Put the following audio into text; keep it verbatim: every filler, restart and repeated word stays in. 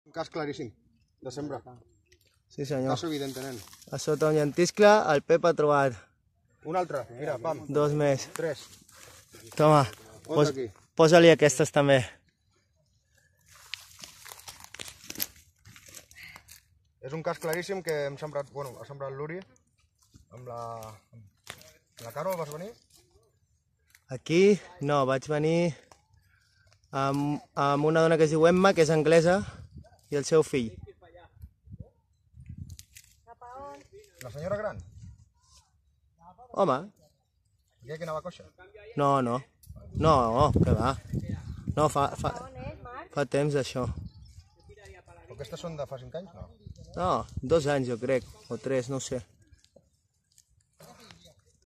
Un cas claríssim, de sembra. Sí, senyor. Cas evident, nen. A sota un llentiscle, el Pep ha trobat Un altre, mira, pam. dos més. Tres. Toma, pos, aquí. posa-li aquestes també. És un cas claríssim que hem sembrat, bueno, ha sembrat l'Uri amb la... amb la Carol, vas venir? Aquí, no, vaig venir amb, amb una dona que es diu Emma, que és anglesa, i el seu fill. La senyora gran? Home, Aquella que anava coixa? no, no. No, que va. No, fa, fa, fa temps d'això. Però aquestes són de fa cinc anys, no? No, dos anys jo crec, o tres, no ho sé.